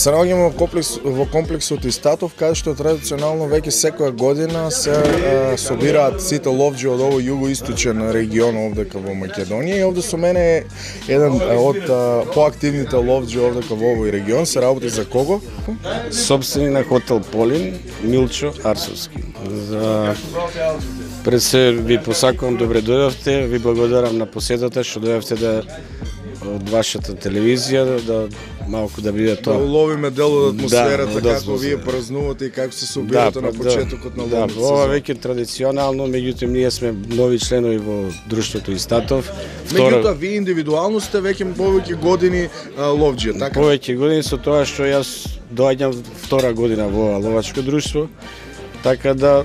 Се наоѓаме во комплексот Истатов, каде што традиционално веќе секоја година се собираат сите ловџи од овој југоисточен регион овдека во Македонија и овде со мене е еден од поактивните ловџи овдека во овој регион. Се работи за кого? Собственик на хотел Полин, Милчо Арсовски. Пред се ви посакувам добре дојдовте, ви благодарам на посетата што дојдовте од вашата телевизија да малку да биде тоа. Да уловиме дел од атмосферата како вие празнувате и како се собирате на почетокот на ловниот сезон. Ова веќе традиционално, меѓутоа ние сме нови членови во друштвото Истатов. Меѓутоа вие индивидуално сте веќе повеќе години ловџија, така? Повеќе години со тоа што јас доаѓам втора година во ловачко друштво, така да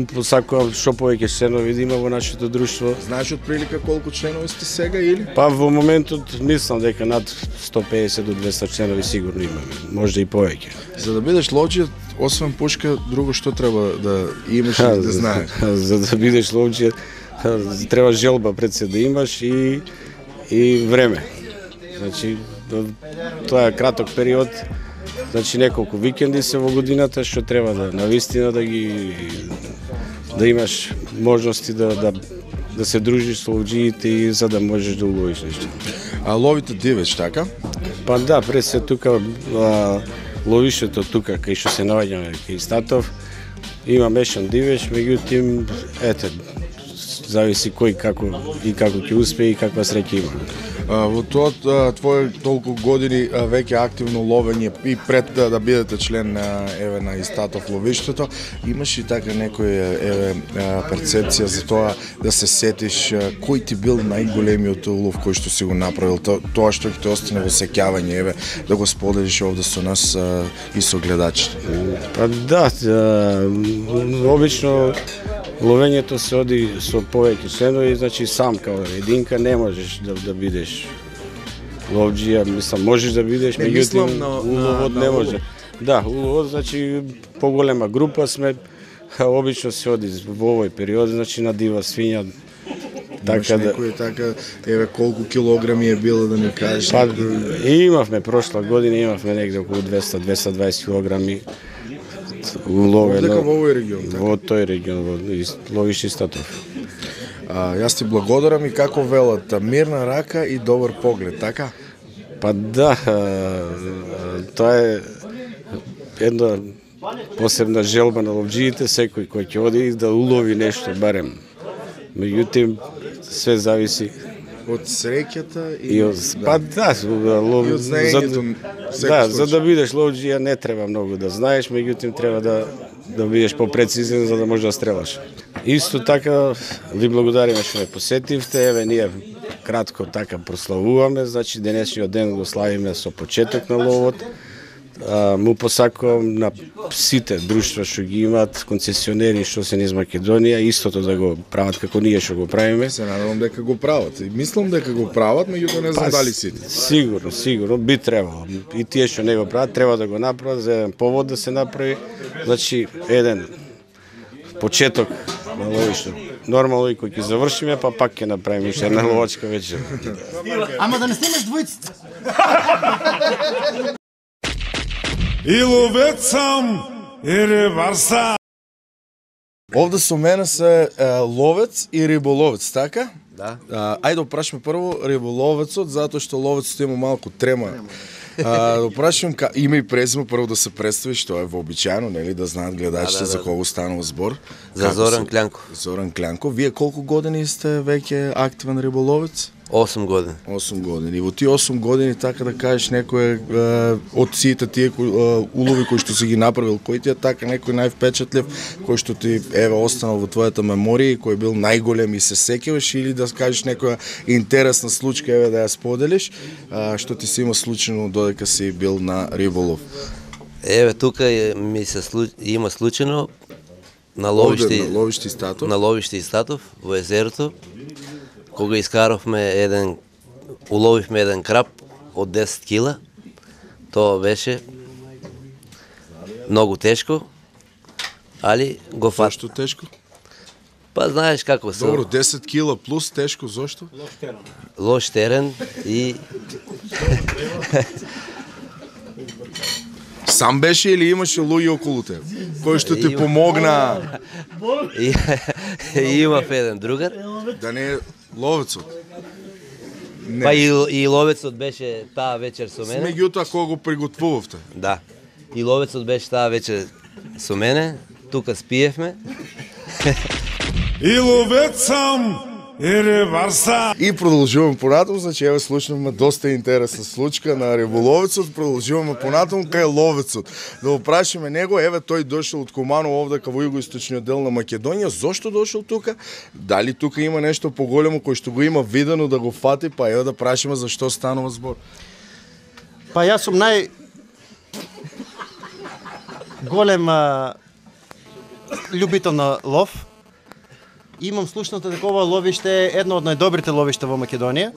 посакувам што повеќе членови да има во нашето друштво. Знаеш отприлика колку членови сте сега или? Па во моментот мислам дека над 150 до 200 членови сигурно имаме, може и повеќе. За да бидеш ловџија, освен пушка, друго што треба да имаш и да знаеш? За да бидеш ловџија, треба желба пред се да имаш и време. Значи, тоа е краток период. Значи неколку викенди се во годината што треба да навистина да имаш можности да се дружиш со ловџиите и за да можеш да уловиш нешто. А ловите дивеч, така? Па да, пред се тука ловишето тука кај што се наоѓаме кај Истатов има мешан дивеч, меѓутоа ете зависи кој како ќе успее и каква среќа има. Во тоа твое толку години веќе активно ловење и пред да бидете член на Истатов ловиштето, имаш и така некоја перцепција за тоа да се сетиш кој ти бил најголемиот улов кој што си го направил, тоа што ќе те остане во сеќавање, да го споделиш овде со нас и со гледачите. Па да, обично ловењето се оди со повеќе членови, значи сам као единка не можеш да бидеш ловџија, мислам можеш да бидеш, меѓутоа уловот не може. Да, уловот значи поголема група сме, обично се оди во овој период, значи на дива свиња. Така да некој така колку килограми е било да ни кажеш? Па имавме прошла година, имавме негде околу 200-220 килограми. Овдека во овој регион, така? Во тој регион, во ловиште Истатов. Јас ти благодарам и како велат, мирна рака и добар поглед, така? Па да, тоа е една посебна желба на ловџиите, секој кој ќе оди да улови нешто барем. Меѓутоа, све зависи од среќата и па да, и од знаењето. Да, за да бидеш ловџија не треба многу да знаеш, меѓутоа треба да бидеш попрецизен за да можеш да стрелаш. Исто така ви благодариме што ме посетивте, ние кратко така прославуваме, значи денешниот ден го славиме со почеток на ловот. Му посакувам на сите друштва што ги имаат концесионери што се низ Македонија, истото да го прават како ние што го правиме. Се надевам дека го прават. И мислам дека го прават, меѓутоа не знам дали сите. Сигурно би требало. И тие што не го прават треба да го направат за еден повод да се направи. Значи еден почеток на ловиште. Нормално и кој ќе завршиме, па пак ќе направиме уште една ловачка вечер. Ама да не снимеш двојците. И ловец сам, и рибар сам. Овде со мене се ловец и риболовец, така? Да. Ајде да прашаме прво риболовецот, затоа што ловецот има малку трема. Да прашам име и презиме прво да се представиш, тоа е вообичаено, нели, да знаат гледачите за кого станува збор. За Зоран Клянков. Зоран Клянков. Вие колку години сте веќе активен риболовец? 8 години. 8 години. И во тие 8 години, така да кажеш, некој од сите тие улови кои што си ги направил, кој ти е така некој највпечатлив, кој што ти останал во твојата меморија, кој бил најголем и се сеќаваш, или да кажеш некоја интересна случка, да ја споделиш, што ти се има случајно додека си бил на риболов? Тука ми се има случајно на ловиште Истатов во езерото, кога уловивме еден краб од 10 кила. Тоа беше многу тешко, али го фат. Зошто тешко? Па знаеш како се. Добро, 10 кила плюс тешко, зошто? Лош терен и Сам беше или имаше луѓе околу тебе? Кој што ти помогна? Имав еден другар. Да не е ловецот. Па и ловецот беше таа вечер со мене. Меѓутоа кога го приготвувавте? Да. И ловецот беше таа вечер со мене. Тука спиевме. И ловец сам и рибарса. И продолжуваме понатаму, значи еве слушнавме доста интересна случка на риболовецот, продолжуваме понатаму кај ловецот. Да го прашиме него, еве тој дошол од Куманово овде кај во југоисточниот дел на Македонија, зошто дошол тука? Дали тука има нешто поголемо кој што го има видено да го фати, па еве да прашиме зашто станува збор. Па јас сум голем љубител на лов. Имам слушнато дека ова ловиште е едно од најдобрите ловишта во Македонија.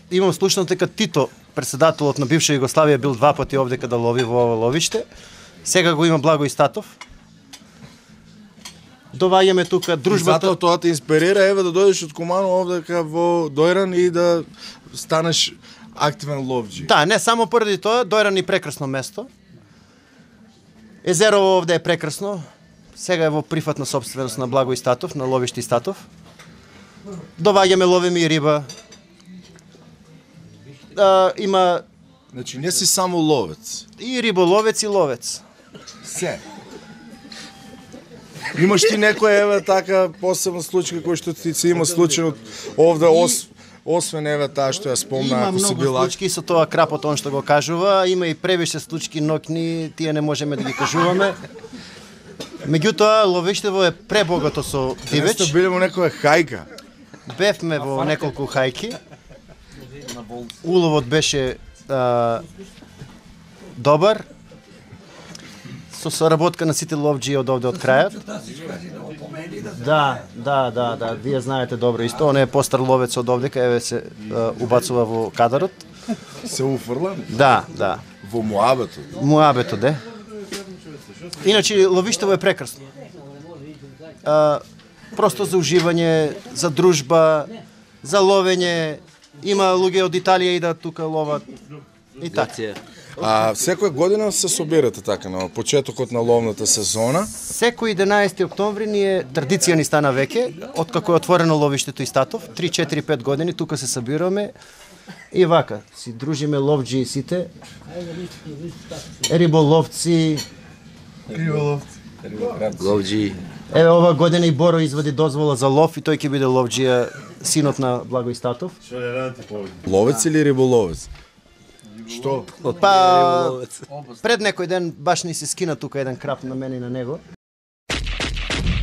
Имам слушнато дека Тито, председателот на бивша Југославија, бил 2 пати овде када лови во ова ловиште. Сега го има Благој Статов. Доваѓаме тука дружбата. Затоа тоа те инспирира еве да дојдеш од Куманово овде во Дојран и да станеш активен ловџи. Да, не само поради тоа, Дојран е прекрасно место. Езерово овде е прекрасно. Сега е во прифатна собственост на Благој Статов, на ловишти Статов. Доваѓаме, ловиме и риба. Има... Значи не си само ловец. И риболовец и ловец. Се. Имаш ти некоја еве така посебна случка кој што ти се има случајно овде освен еве таа што ја спомна, ако си бил... Има многу случки со тоа крапот он што го кажува, има и превише случки, но тие не можеме да ги кажуваме. Меѓутоа, ловиштево е пребогато со дивеч. Сте биле во некоја хајка? Бевме во неколку хајки. Уловот беше добар. Со соработка на сите ловџи од овде од крајот. Да, вие знаете добро исто. Он е постар ловец од овде, кај се убацува во кадарот. Се уфрла? Да. Во муабетот? Муабетот, да. Иначе ловиштево е прекрасно. Просто за уживање, за дружба, за ловење. Има луѓе од Италија идат тука ловат. И така. Секоја година се собирате така на почетокот на ловната сезона? Секој 11 октомври традиција ни стана веќе, откако е отворено ловиштето Истатов, 3-4-5 години тука се собираме и вака, си дружиме ловџи сите, риболовци, Ловџи. Еве ова година и Боро извади дозвола за лов и тој ќе биде ловџија, синот на Благој Статов. Ловец или риболовец? Што? Па, пред некој ден баш ни се скина тука еден крап на мене и на него.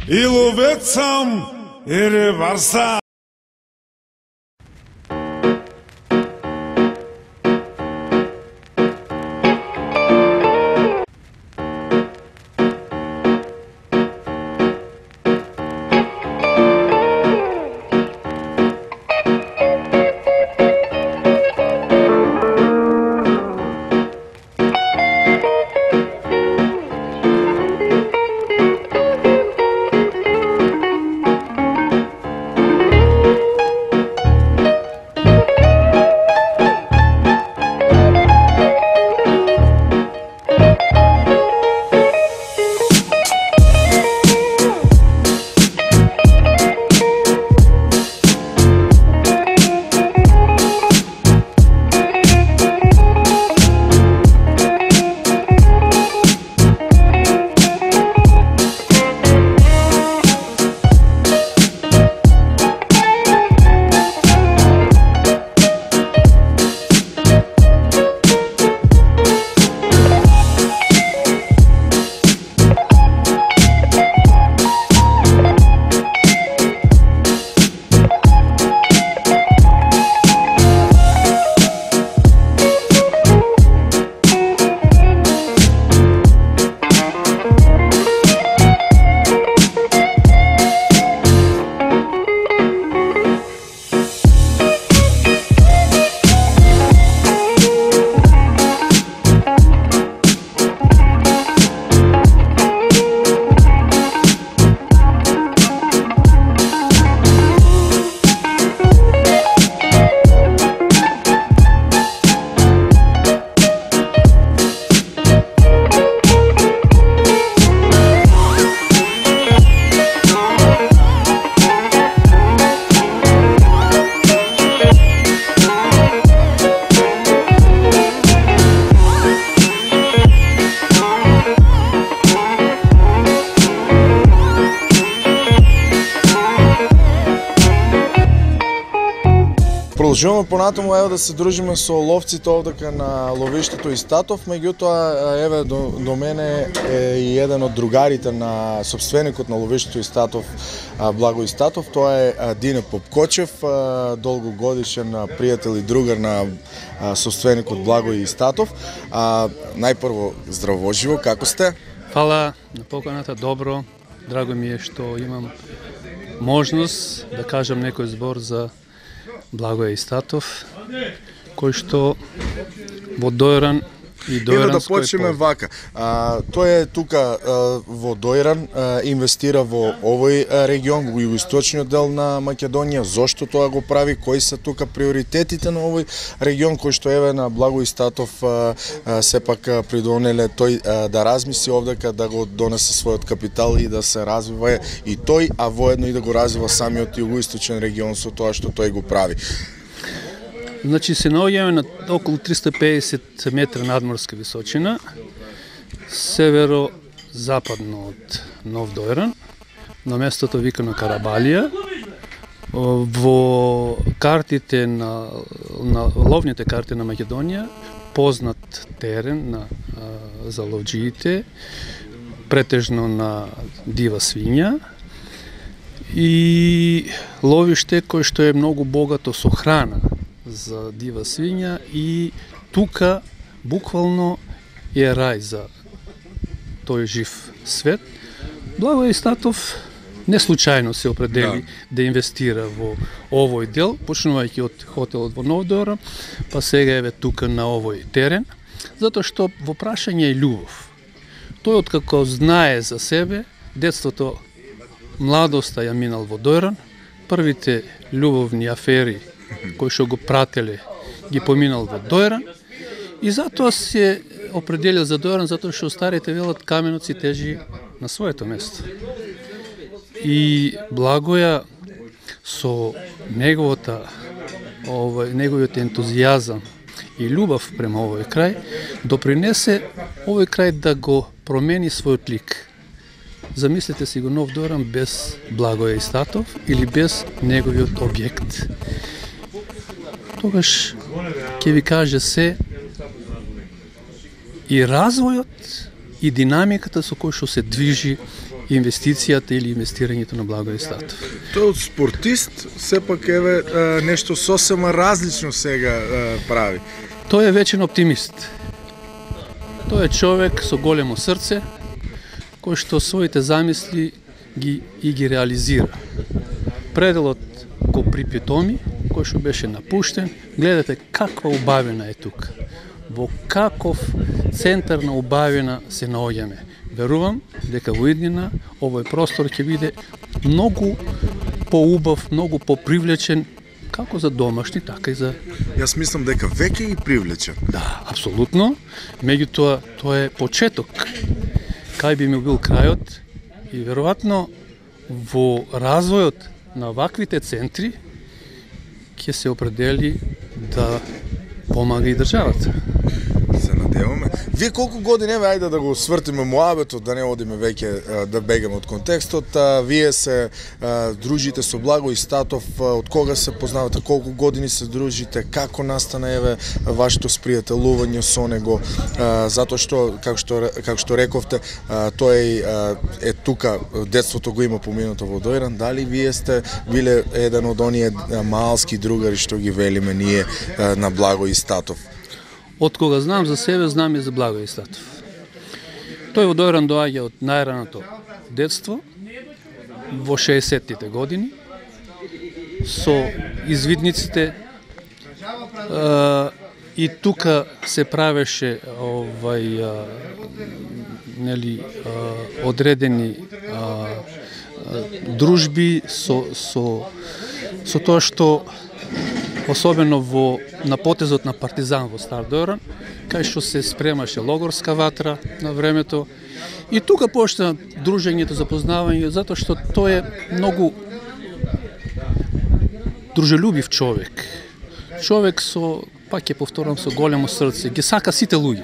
И ловец сам и рибарса. продолжуваме понатаму, еве да се дружиме со ловците овдека на ловиштето Истатов, меѓутоа еве до мене е и еден од другарите на сопственикот на ловиштето Истатов, Благо Истатов, тоа е Дине Попкочев, долгогодишен пријател и другар на сопственикот Благо Истатов. Најпрво здраво живо, како сте? Фала на поканата, добро. Драго ми е што имам можност да кажам некој збор за Благоја Истатов, кој што во Дојран и Дојранској Еве да почнеме вака. Тој е тука во Дојран, инвестира во овој регион, во југоисточниот дел на Македонија. Зошто тоа го прави? Кои се тука приоритетите на овој регион, кој што еве на Благо Истатов сепак придонеле тој да размисли овдека, да го донесе својот капитал и да се развива и тој, а воедно и да го развива самиот југоисточен регион со тоа што тој го прави. Значи се наоѓаме на околу 350 метра надморска височина, северо-западно од Нов Дојран, на местото викано Карабалија. Во картите на ловните карти на Македонија, познат терен за ловџиите, претежно на дива свиња, и ловиште кој што е многу богато со храна за дива свиња, и тука буквално е рај за тој жив свет. Благо Истатов не случајно се определи да инвестира во овој дел, почнувајќи од хотелот во Нов Дојран, па сега еве тука на овој терен, затоа што во прашање е љубов. Тој откако знае за себе, детството, младоста ја минал во Дојран, првите љубовни афери кои што го прателе ги поминал во Дојран, и затоа се определил за Дојран, затоа што старите велат каменот си тежи на своето место. И Благоја со неговиот ентузијазам и љубов према овој крај допринесе овој крај да го промени својот лик. Замислете си го Нов Дојран без Благоја Истатов или без неговиот објект. Тогаш ќе ви каже се и развојот и динамиката со кој што се движи инвестицијата или инвестирањето на Благо Истатов. Тој од спортист сепак еве нешто сосема различно сега прави. Тој е вечен оптимист. Тој е човек со големо срце, кој што своите замисли ги реализира. Пределот го припитоми, кој што беше напуштен, гледате каква убавина е тука. Во каков центар на убавина се наоѓаме. Верувам дека во иднина овој простор ќе биде многу поубав, многу попривлечен, како за домашни, така и за... Јас мислам дека веќе и привлечен. Да, апсолутно. Меѓутоа, тоа е почеток. Кај би ми бил крајот, и веројатно во развојот на ваквите центри ќе се определи да помага и државата. Се надеваме. Вие колку години, еве, ајде да го свртиме муабетот, да не одиме веќе да бегаме од контекстот. Вие се дружите со Благо Истатов, од кога се познавате, колку години се дружите, како настана еве вашето спријателување со него, затоа што како што рековте, тој е тука, детството го има поминато во Дојран. Дали вие сте биле еден од оние малски другари што ги велиме ние на Благо Истатов? Од кога знам за себе, знам и за Благо Истатов. Тој во Дојран доаѓа од најраното детство, во 60-тите години, со извидниците, и тука се правеше одредени дружби со тоа што особено на потезот на Партизан во Стар Дојран, кај што се спремаше логорска ватра на времето. И тука почна дружењето, запознавање, затоа што тој е многу дружелюбив човек. Човек со, пак ќе повторам, со големо срце, ги сака сите луѓе.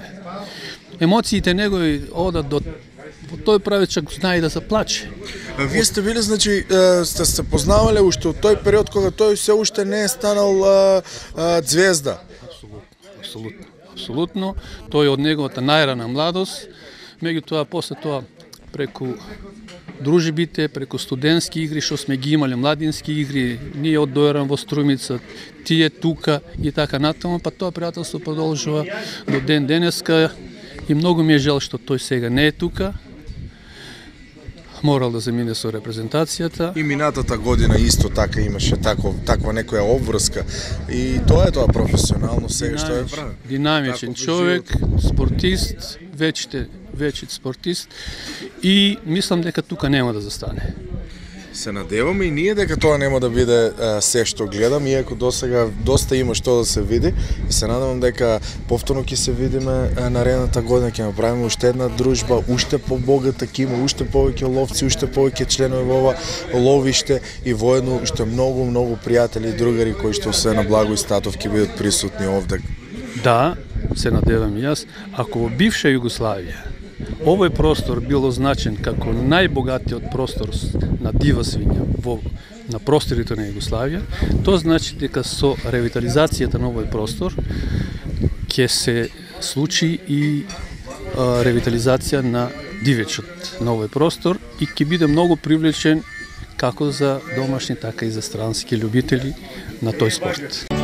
Емоциите негови одат до во тој правечак знае да заплаче. Вие сте били, значи, сте се познавале уште од тој период кога тој се уште не е станал звезда. Апсолутно. Тој од неговата најрана младост, меѓутоа после тоа преку дружбите, преку студентски игри што сме ги имале, младински игри, ние од Дојран во Струмица, тие тука и така натаму, па тоа пријателство продолжува до ден денеска и многу ми е жал што тој сега не е тука. Морал да замине со репрезентацијата. И минатата година исто така имаше таква некоја обврска. И тоа е тоа професионално сега што е прави. Динамичен човек, спортист, вечит спортист и мислам дека тука нема да застане. Се надеваме и ние дека тоа нема да биде се што гледам, иако досега доста има што да се види и се надевам дека повторно ќе се видиме наредната година, ќе направиме уште една дружба, уште побогата, ќе има уште повеќе ловци, уште повеќе членови во ова ловиште и воедно уште многу пријатели и другари кои што се на Благој Статов ќе бидат присутни овде. Да, се надевам и јас, ако во бивша Југославија овој простор бил означен како најбогатиот простор на дива свиња на просторите на Југославија, тоа значи дека со ревитализацијата на овој простор ќе се случи и ревитализација на дивечот на овој простор и ќе биде многу привлечен како за домашни, така и за странски љубители на тој спорт.